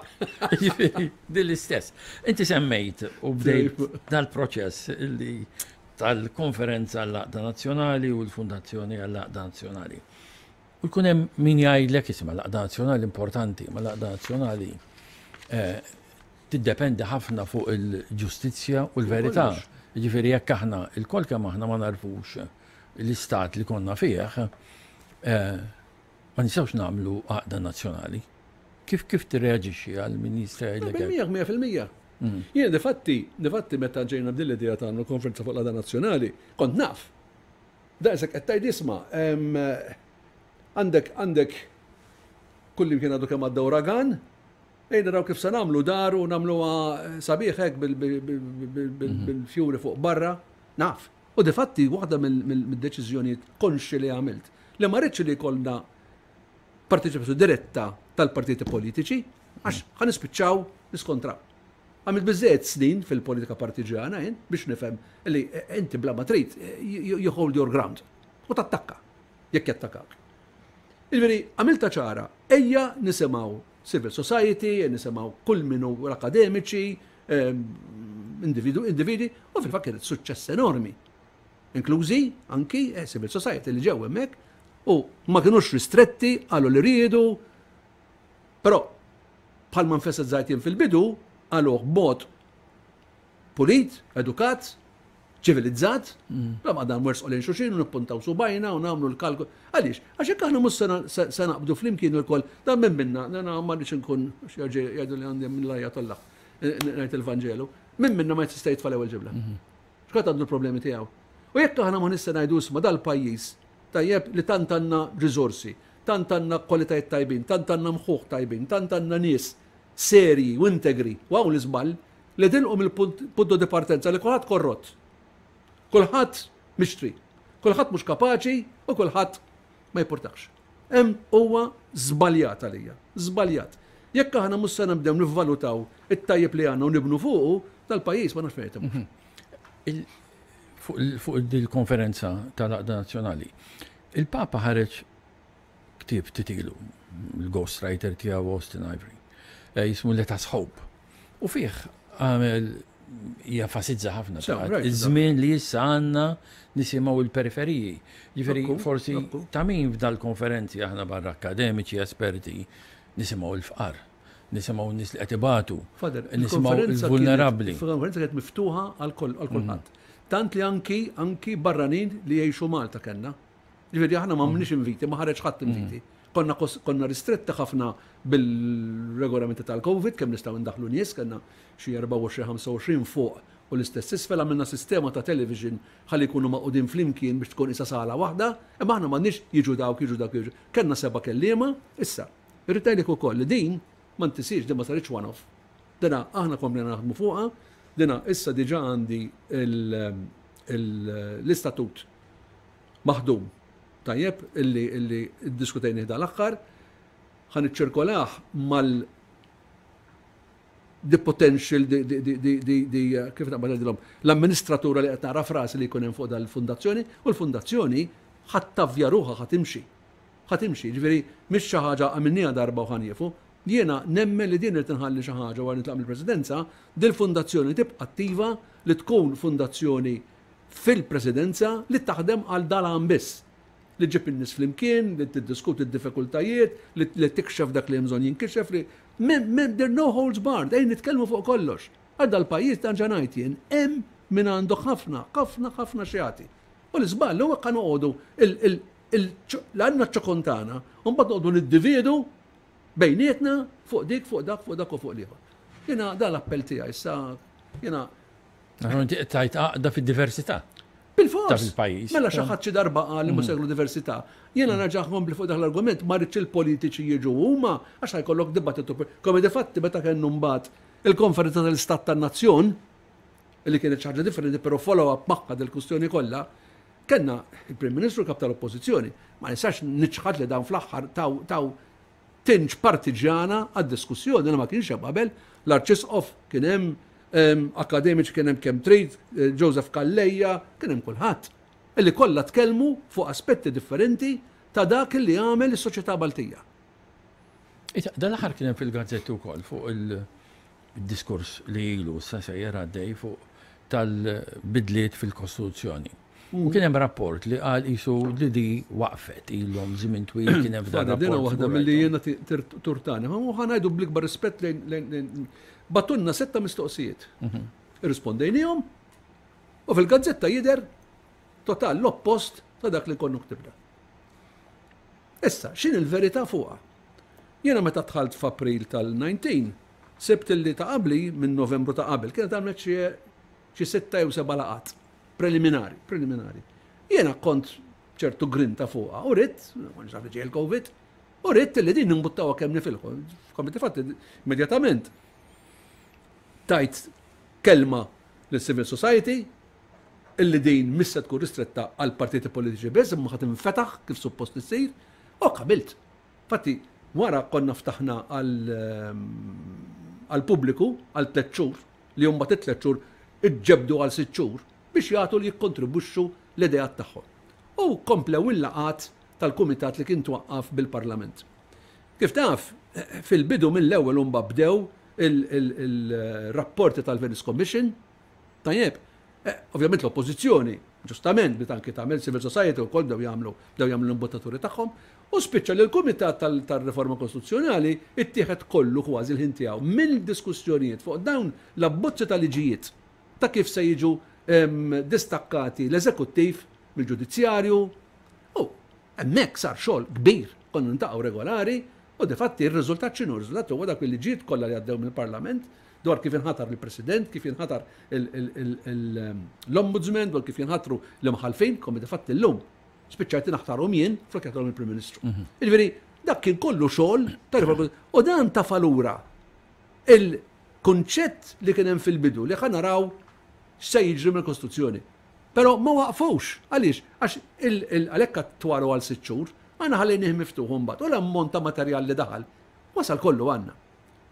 Jiġifieri din l-istess. Inti semmejt u bdejt dal-proċess illi tal-Konferenza għall-Għaqda Nazzjonali u l-Fundazzjoni għall-Għaqda Nazzjonali. U jkun hemm min jgħidlek isma' l-Għaqda Nazzjonali importanti, ma l-Għaqda Nazzjonali eh, tiddependi ħafna fuq il-ġustizzja u l-verità. Jiġifieri jekk aħna il-kol kemm aħna ma narfux l-istat li konna fih, eh, ma nistgħux nagħmlu għaqda nazzjonali. Kif kif tirreaġixxi għal min jista' jgħidlek? Mija 100%. Mm. Jien difatti, difatti meta ġejna b'din l-idea ta' nagħmlu konferenza fuq l-għada nazzjonali, kont naf. Daqshekk qed tgħid isma' għandek għandek kullimkien għadu kemm għadda uragan, ejja naraw kif se nagħmlu dar u nagħmluha sabiħ hekk bil-fjuri fuq barra, naf. U difatti waħda mid-deċiżjonijiet konxi li għamilt li ma rridx li jkollna parteċipazzjoni diretta tal-partiti politiċi għax ħa nispiċċaw niskontraw. Għamilt biżżejjed snin fil-politika partiġjana jien biex nifhem li inti bla ma trid you hold your ground u tattakka jekk jattakak. Jiġifieri għamilta ċara, ejja nisimgħu civil society, nisimgħu kull min hu l-akademiċi, individwi, u fil-fatt kienet suċċess enormi. Inklużi anki eh, civil society li ġew hemmhekk u ma kinux ristretti qalu li riedu, però bħalma nfessat jien fil-bidu, qaluh b'mod pulit, edukat, ċivilizzat, bla ma dan wersqu lejn xulxin u nippuntaw subajna u nagħmlu l-kalkol. Għaliex? Għax jekk aħna mhux se naqbdu flimkien ukoll dan minn minna, nana ma rridx inkun jgħidu li għandi minn lajja tolla ngħid il-Vanġelu, minn minna ma jista' jitfa' l-ewwel ġibla. Mhm. X'kont għandu l-problemi tiegħu. U jekk aħna ma nista' ngħidu isma' dal-pajjiż tajjeb li tant għandna riżorsi, tant għandna kwalitajiet tajbin, tant għandna mħuħ tajbin, tant għandna nies serji u integri, u hawn l-iżball, li tilqu mill-punto di partenza li kulħadd korrott. Kulħadd mixtri. Kulħadd mhux kapaċi u kulħadd ma jippurtax. Hemm huwa żbaljat għalija. Żbaljat. Jekk aħna mhux se nibdew nivvalutaw it-tajjeb li għandna u nibnu fuqu, dal-pajjiż ma nafx fejn mhm. Fuq il-konferenza tal-Għaqda Nazzjonali, il-Papa ħareġ ktieb ftit ilu, il-ghostwriter tiegħu Austin Ivory, eh, jismu Let Us Hope. U fih għamel jenfasizza ħafna iż-żmien li issa għandna nisimgħu l-periferiji. Ġifieri forsi ta' min f'dal-konferenzi aħna barra akademiċi, esperti, nisimgħu l-fqar, nisimgħu n-nies li qed ibatu, nisimgħu l-vulnerabbli. Il-konferenza kienet miftuħa għal kulħadd. Tant li anki anki barranin li jgħixu Malta kellna. Ġifieri aħna ma għamilniex inviti, ma ħareġ ħadd inviti. Konna konna ristretti ħafna bil-regolamenti tal-Covid, kemm nistgħu ndaħlu nies, kellna xi 24-25 fuq u l-istess isfel għamilna sistema ta' television ħalli jkunu magħqudin flimkien biex tkun isa sala waħda, imma aħna m'għandniex jiġu dawk, jiġu dawk, jiġu. Kellna seba' kelliema, issa. Irrid ngħidlek ukoll li din ma ntisiex, din ma saritx one-off. Dina aħna komplejna naħdmu fuqha, dina issa diġà għandi l-istatut maħdum tajjeb illi illi ddiskutejnih dal-aħħar, ħa niċċirkolah mal the potential, the, the, the, the, the, kif naqbad ngħidilhom, l-amministratura li qed nara frasi li jkun hemm fuq dal-fundazzjoni, u l-fundazzjoni ħadd tavvja ruħha ħa timxi. Ħa timxi, ġifieri mhix xi ħaġa għamilniha darba u ħa nieqfu. Jiena nemmen li din irid inħalli xi ħaġa wara nitlaq mill-Presidenza, dil-fundazzjoni tibqa' attiva li tkun fundazzjoni fil-Presidenza li taħdem għal dal-għan biss, li ġġib in-nies flimkien, li tiddiskuti d-diffikultajiet, li tikxef dak li hemm bżonn jinkixef, li there no holds barred, ejja nitkellmu fuq kollox. Għal dal-pajjiż dan ġa ngħid jien, hemm min għandu ħafna, ħafna, ħafna x'jagħti. U l-iżball huwa jekk noqogħdu għandna ċ-ċokon tagħna u mbagħad noqogħdu niddividu bejnietna fuq dik, fuq dak, fuq dak u fuq l-ieħor. Jiena dan l-appell tiegħi issa jiena Inti qed tgħid għaqda fid-diversità. Bil-fors. Ta' fil-pajjiż. Mela xi ħadd xi darba qal li mhux mm. diversità. Jiena mm. nerġa' nkompli fuq dak l-argument ma rridx il-politiċi jiġu huma għax ħajkollok dibattitu. Come di fatti meta kellu mbagħad il-konferenza tal-Istat tan-Nazzjon li kienet xi ħaġa differenti però follow-up magħha dil-kwistjoni kollha, kellna il-Prim Ministru kap tal-Oppożizzjoni. Ma nistax niċħad li dan fl-aħħar taw taw tinġ partiġjana għad-diskussjoni li ma kienx hemm qabel, l-Arċisqof kien hemm, akademiċi kien hemm kemm trid, eh, Joseph Calleja, kien hemm kulħadd. Illi kollha tkellmu fuq aspetti differenti ta' dak li għamel is-soċjetà Maltija. Dan l-aħħar kien hemm fil-gazzetti wkoll fuq il-diskors li ilu sa sejjer għaddej fuq tal-bidliet fil-Kostituzzjoni. U kien hemm rapport li qal qisu li di waqfet ilhom żmien twil kien hemm f'dan rapport. Dina waħda milli jiena turtani. Ma ħa ngħidu bl-ikbar rispett lejn batunna setta mistoqsijiet. Mhm. Irrispondejnihom u fil-gazzetta jidher total l-oppost ta' dak li konnu ktibna. Issa, x'in il-verità fuqha? Jiena meta dħalt f'April tal-19, sibt li ta' qabli minn Novembru ta' qabel kienet għamlet xi sitta jew seba' laqgħat. Preliminari, preliminari. Jiena kont ċertu grinta fuqha u ridt, ma naf li ġej il-Covid, u ridt li din nimbuttawha kemm nifilħu. Komiti fatti, immedjatament tajt kelma lis civil society illi din missa tkun ristretta għal partiti politiċi biss, imma ħadd infetaħ kif suppost issir, u qabilt. Fatti, wara konna ftaħna għal pubbliku għal tliet xhur li mbagħad it-tliet xhur iġġebbdu għal sitt xhur biex jagħtu li jikkontribwixxu l-ideat tagħhom. U komplew il-laqgħat tal-kumitat li kien twaqqaf bil-Parlament. Kif taf, fil-bidu mill-ewwel mbagħad bdew il-rapporti tal-Venice Commission, tajjeb, eh, ovvjament l-oppożizzjoni, ġustament, bdiet anki tagħmel civil society wkoll bdew jagħmlu bdew jagħmlu l-imbuttaturi tagħhom, u spiċċa li l-Kumitat tal-Riforma Kostituzzjonali ittieħed kollu kważi l-ħin tiegħu mill-diskussjonijiet fuq dawn l-abbozzi ta' liġijiet ta' kif se jiġu Distakkati l-eżekuttiv mill-ġudizzjarju u hemmhekk sar xogħol kbir, konna niltaqgħu regolari u difatti r-riżultat x'inhu? R-riżultat huwa dak il-liġijiet kollha li għaddew mill-Parlament dwar kif inħatar il-President, kif jinħatar l-Ombudsman, dwar kif jinħatru l-imħallfin, come difatti llum spiċċajt naħtarhom jien flok jaħtarhom il-Prim Ministru. Jiġifieri dak kien kollu xogħol ta' u dan tafa' lura il-kunċett li kien hemm fil-bidu li ħa naraw x'se jiġri mill-Kostituzzjoni. Però ma waqfux. Għaliex? Għax għalhekk attwaru għal sitt xhur, aħna ħallejnih miftuħ imbagħad u l-ammont ta' materjal li daħal wasal kollu għandna.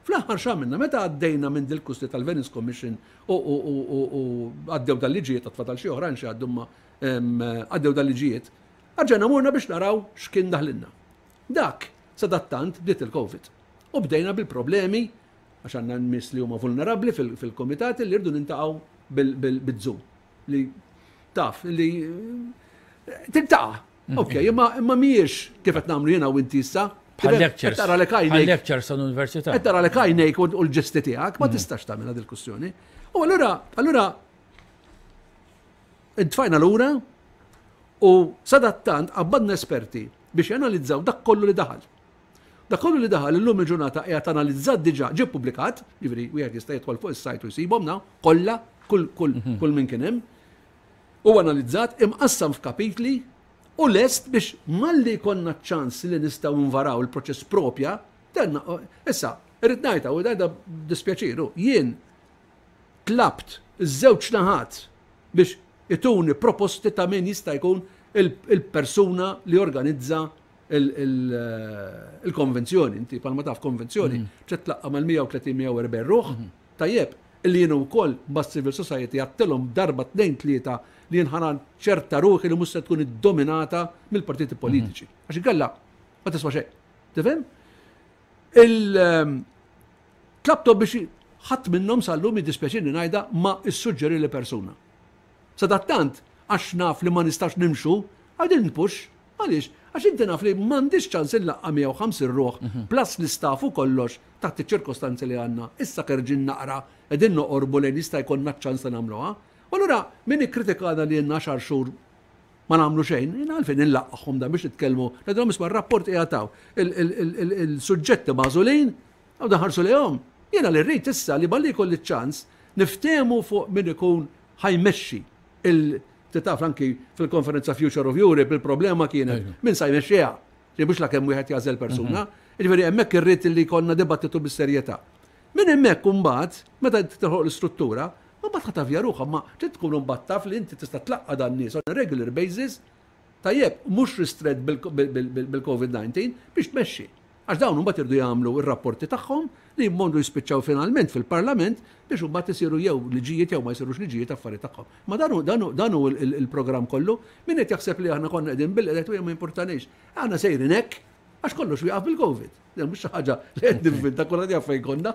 Fl-aħħar x'għamilna? Meta għaddejna minn dil-kusti tal-Venice Commission u għaddew dal-liġijiet, għad fadal xi oħrajn xi għaddu imma għaddew dal-liġijiet, erġajna morna biex naraw x'kien daħlilna. Dak, sadattant, bdiet il-Covid. U bdejna bil-problemi għax għandna nies li huma vulnerabbli fil-komitati li rridu nintaqgħu bil-Zoom. Li taf li tintaqa'. Ok, imma imma mhijiex kif qed nagħmlu jiena u inti issa. Bħal lectures. Tara lek għajnejk. Lectures tal-università. Qed tara lek għajnejk u l-ġesti tiegħek, ma tistax tagħmilha dil-kwistjoni. U allura allura intfajna lura u sadattant qabbadna esperti biex janalizzaw dak kollu li daħal. Dak kollu li daħal illum il-ġurnata qiegħed analizzat diġà ġie ppubblikat, jiġifieri wieħed jista' jidħol fuq is-sajt u jsibhom na kollha kull kull kull min kien hemm. Huwa analizzat, imqassam f'kapitli u lest biex malli jkollna ċ-ċans li nistgħu nvaraw il-proċess propja, tenna issa irrid ngħidha u ngħidha b'dispjaċir, jien tlabt iż-żewġ naħat biex ituni proposti ta' min jista' jkun il-persuna li jorganizza il-konvenzjoni. Inti palma taf konvenzjoni, trid tlaqqa' mal-130-140 ruħ, tajjeb, illi jiena wkoll mas civil society għedtilhom darba tnejn tlieta li jien ħa ċerta ruħi li mhux se tkun iddominata mill-partiti politiċi. Għax inkella ma tiswa xejn. Tifhem? Il-tlabtom biex ħadd minnhom sal-lum jiddispjaċini ngħidha ma issuġġeri li persuna. Sadattant, għax naf li ma nistax nimxu, I didn't push. Għaliex? Għax inti naf li m'għandix ċans inlaqqa' 150 ruħ plus l-istaff u kollox taħt iċ-ċirkostanzi li għandna. Issa kerġin naqra qegħdin noqorbu lejn jista' jkollna ċ-ċans li nagħmluha. U allura min ikkritikana li ilna għaxar xhur ma nagħmlu xejn, jiena għalfejn inlaqqagħhom dan biex nitkellmu, ngħidilhom isma' r-rapport qiegħed hawn, il-suġġetti magħżulin, u daħarsu lejhom. Jiena li rrid issa li malli jkolli ċ-ċans niftehmu fuq min ikun ħa jmexxi il taf anki fil-konferenza Future of Europe il-problema kienet min sa jmexxiha. Li mhux la kemm wieħed jagħżel persuna. Jiġifieri hemmhekk irrid li jkollna dibattitu bis-serjetà. Min hemmhekk imbagħad, meta tilħoq l-istruttura, mbagħad ħa tavja ruħha, ma trid tkun imbagħad taf li inti tista' tlaqqa' dan nies on a regular basis, tajjeb, mhux ristrett bil-COVID-19 biex tmexxi. Għax dawn imbagħad iridu jagħmlu r-rapporti tagħhom li jmorru jispiċċaw finalment fil-Parlament biex imbagħad isiru jew liġijiet jew ma jsirux liġijiet affarijiet tagħhom. Ma dan hu dan hu dan hu il-programm kollu. Min qed jaħseb li aħna konna qegħdin bil-qed u ma jimpurtanix. Aħna sejrin hekk għax kollox wieqaf bil-Covid. Dan mhux xi ħaġa li qed nivvinta kulħadd jaf fejn konna.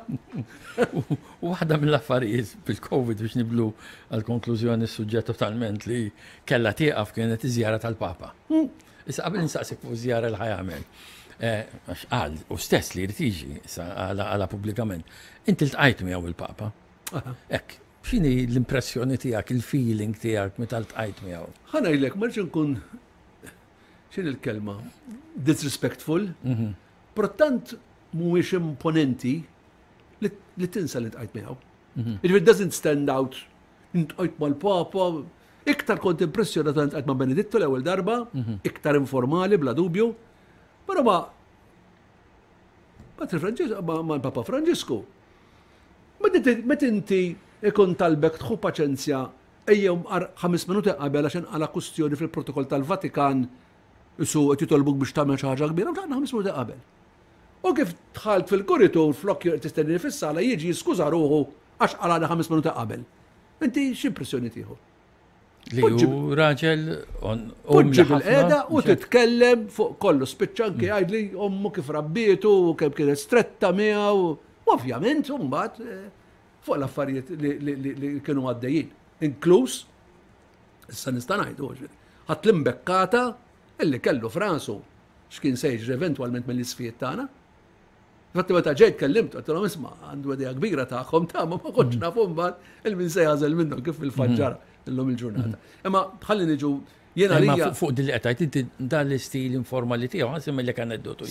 Waħda mill-affarijiet bil-Covid biex niblu għall-konklużjoni s-suġġett totalment li kellha tieqaf kienet iż-żjara tal-Papa. Issa qabel nistaqsik fuq żjara li ħajamel. Eh, għax qal u stess li jrid jiġi issa għala pubblikament. Inti ltqajt miegħu il-Papa. Hekk, x'inhi l-impressjoni tiegħek, il-feeling tiegħek meta ltqajt miegħu? Ħa ngħidlek, ma rridx inkun x'inhi l-kelma disrespectful, però tant mhuwiex imponenti li tinsa li ltqajt miegħu. It doesn't stand out Intqajt mal-Papa, iktar kont impressjonat meta intqajt ma' Benedittu l-ewwel darba, iktar informali bla dubju. Però ma Patri Franġisku, ma' Papa Franġisku. Meta inti ikun talbek tħu paċenzja ejjew mqar 5 minuti qabel għax inqala kustjoni fil-protokoll tal-Vatikan isu qed jitolbuk biex tagħmel xi ħaġa kbira, u tlaqna 5 minuti qabel. U kif dħalt fil-kuritur flok tistennini fis-sala jiġi jiskuża ruħu għax qalani 5 minuti qabel. Inti x'impressjoni tieħu? Li hu raġel Poġġi bil-qeda u titkellem fuq kollu spiċċa anke jgħidli ommu kif rabbietu u kemm kienet stretta miegħu. U ovvjament mbagħad eh, fuq l-affarijiet li kienu għaddejjin. Inkluż, issa nista' ngħidu, ħadd l-imbekkata illi kellu frasu x'kien se jiġri eventwalment mill-isfijiet tagħna. Infatti meta ġejt kellimt, għedtilhom isma' għandu idea kbira tagħhom ta' ma kontx naf imbagħad il-min se jagħżel minnhom kif fil-fatt ġara. Illum il-ġurnata. Imma ħalli niġu jiena li. Fuq din li qed tgħid inti dan l-istil informali tiegħu ħa nsemmilek aneddotu.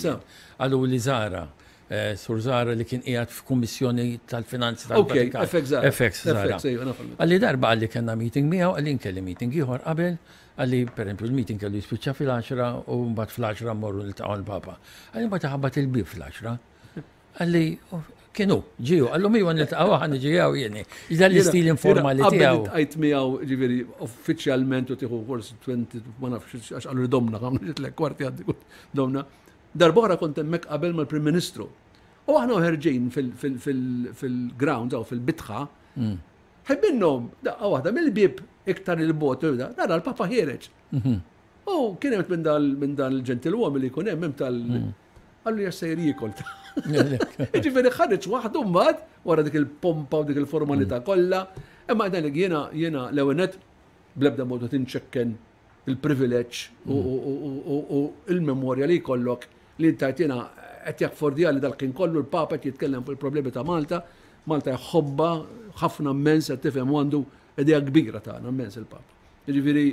Qalu li Zara eh, Sur Zara li kien qiegħed f'kummissjoni tal-finanzi tal-Vatikan. Ok, FX Zara. FX Zara. Għalli darba għalli kellna meeting miegħu, għalli nkelli meeting ieħor qabel, għalli pereżempju l-meeting kellu jispiċċa fil-10 u mbagħad fl-10 mmorru niltaqgħu l-Papa. Għalli mbagħad ħabbat il-bib fl-10. Għalli kienu, ġiju, għallu mi għan niltaqgħu għan ġijaw jeni. Dan l-istil informali tiegħu. Għajt miegħu ġifieri uffiċjalment u tieħu forsi 20 ma nafx għax qalu domna, għamlu kwarti għaddi domna. Darb'oħra kont hemmhekk qabel mal-Prim Ministru. U aħna ħerġin fil-ground jew fil-bitħa, mm. ħeb minnhom daqqa waħda mill-bieb iktar il-bot, nara l-Papa ħiereġ. Mhm. U kien hemm minn dan il-ġentilwom li jkun hemm tal mm. Għallu jassejr jiekol. Ġifieri ħareġ waħdu mbagħad wara dik il-pompa u dik il-formalità mm. kollha. Imma dan jiena jiena l-ewwel bl-ebda modu tinċekken il-privileġġ u il-memorja li jkollok li intajt jiena qed jaffordja li dal-kien kollu l-Papa qed jitkellem fuq il-problemi ta' Malta, Malta jħobba ħafna immens qed tifhem u għandu idea kbira tagħna immens il-Papa. Jiġifieri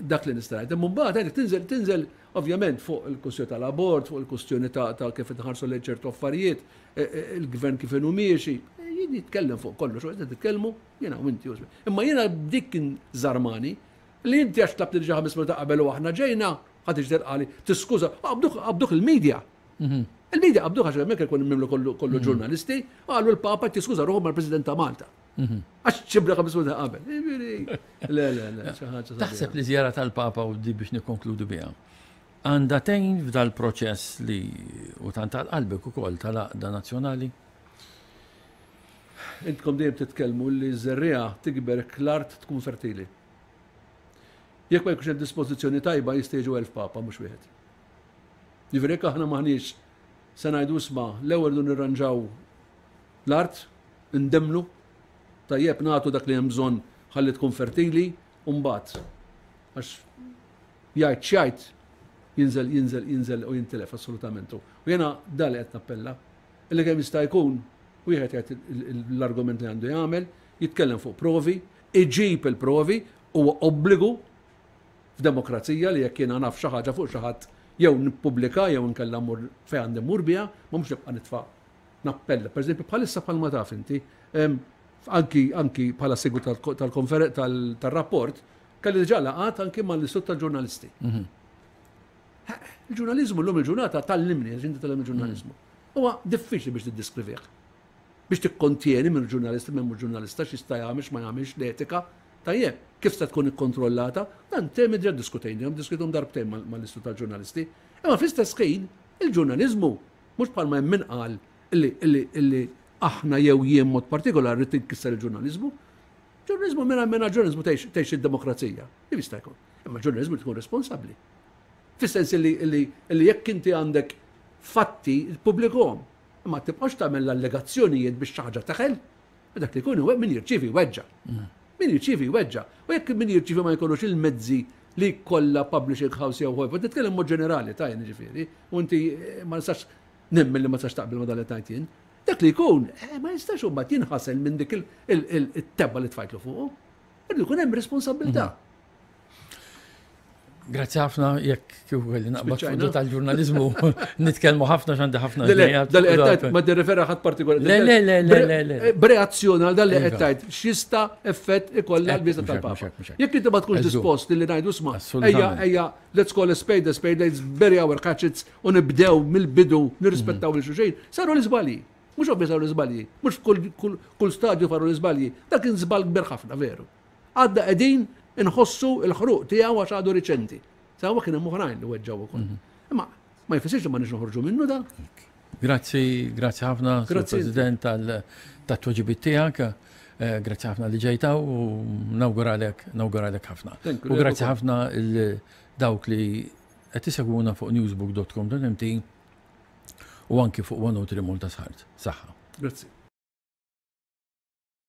dak li nista' ngħid. Imma mbagħad għandek tinżel tinżel ovvjament fuq il-kwistjoni tal-abort, fuq il-kwistjoni ta' kif inħarsu lejn ċertu affarijiet, e, e, il-gvern kif inhu miexi. Jien jitkellem fuq kollox, u qed nitkellmu jiena u inti. Imma jiena dik kien żarmani li inti għax tlabt diġà ħames minuti qabel u aħna ġejna, ħadd iġder qali, tiskuża, qabduk il-medja. Mhm. Il-medja qabduk għax hemmhekk ikun mimlu kollu mhm. ġurnalisti, qalu l-Papa tiskuża ruħu mal-President ta' Malta. Mhm. Għax ċibra ħames minuti qabel. Le, le, le, xi ħaġa. Taħseb li żjara tal-Papa u di biex nikkonkludu biha. Għandha tgħin f'dal-proċess li u tant għal qalbek ukoll tal-għaqda nazzjonali? Intkom dejjem titkellmu li ż-żerriegħa tikber jekk l-art tkun fertili. Jekk ma jkunx hemm dispożizzjoni tajba jista' jiġu 1000 papa mhux wieħed. Jiġifieri jekk aħna m'aħniex se ngħidu isma' l-ewwel rridu nirranġaw l-art, indemmlu, tajjeb nagħtu dak li hemm bżonn ħalli tkun fertili u mbagħad għax jgħid x'jgħid jinżel jinżel jinżel u jintilef assolutament. U jiena dan li qed nappella Illi kemm jista' jkun wieħed jgħid l-argument li għandu jagħmel, jitkellem fuq provi, iġib il-provi, huwa obbligu f'demokrazija li jekk jiena naf xi ħaġa fuq xi ħadd jew nippubblika jew inkella mmur fejn għandi mmur biha, ma mhux nibqa' nitfa' nappella. Per eżempju, bħalissa bħalma taf inti, anki anki bħala segwitu tal-rapport, kelli diġà laqgħat anki mal-Istitut tal-Ġurnalisti. Mhm. Il-ġurnaliżmu llum il-ġurnata tallimni, għax inti tallem il-ġurnaliżmu. Huwa diffiċli biex tiddiskrivih. Biex tikkontjeni minn ġurnalista minn mhux ġurnalista x'jista' jagħmel x'ma jagħmilx l-etika. Tajjeb, kif se tkun ikkontrollata? Dan temi diġà diskutejnihom, diskutejthom darbtejn mal-Istitut tal-Ġurnalisti. Imma fl-istess ħin, il-ġurnaliżmu mhux bħalma hemm min qal illi aħna jew jien mod partikolari rrid inkisser il-ġurnaliżmu. Ġurnaliżmu mingħajr mingħajr ġurnaliżmu tgħix id-demokrazija. Kif jista' jkun? Imma ġurnaliżmu tkun responsabbli. Fis-sens li, li, li jekk inti għandek fatti, pubblikhom. Imma tibqax tagħmel l-allegazzjonijiet biex xi ħaġa teħel. Dak li jkun min jirċievi weġġa. Mm. Min jirċievi weġġa. U jekk min jirċievi ma jkollux il-mezzi li kollha publishing house jew ħojf, nitkellem mod ġenerali ta' jien ġifieri, u inti eh, ma nistax nemmen li ma tistax taqbel ma dan li tajt jien. Dak li jkun, eh, ma jistax u mbagħad jinħasel minn dik il-tebba li tfajtlu fuqu. Irdu jkun hemm responsabilità. Mhm. Grazzi ħafna jekk kif kelli naqbad fuq tal-ġurnaliżmu nitkellmu ħafna x'għandi ħafna. Le, dal qed tgħid ma tirrefera ħadd partikolari. Le, le, le, le, le. Eh, b'reazzjoni għal dan li qed tgħid x'jista' effett ikollha l-biża tal-Papa. Jekk inti ma tkunx dispost li ngħidu sma' ejja ejja let's call a spade a spade, let's bury our hatchets u nibdew mill-bidu nirrispettaw lil xulxin, saru l-iżbalji. Mhux ovvja saru l-iżbalji, mhux kull stadju faru l-iżbalji. Dak kien żball kbir ħafna veru. Għadna qegħdin inħossu l-ħruq tiegħu għax għadu riċenti. Sewwa kien hemm oħrajn li weġġgħu ukoll. Mhm. Imma ma jfissirx li ma nix noħorġu minnu da. Grazzi, grazzi ħafna, Grazzi President tal-tweġibiet tiegħek. Eh, grazzi ħafna li ġejta u nawguralek, nawguralek ħafna. U grazzi ħafna dawk li qed isegwuna fuq newsbook.com.mt u anki fuq 103 Malta Sħart. Saħħa. Grazzi.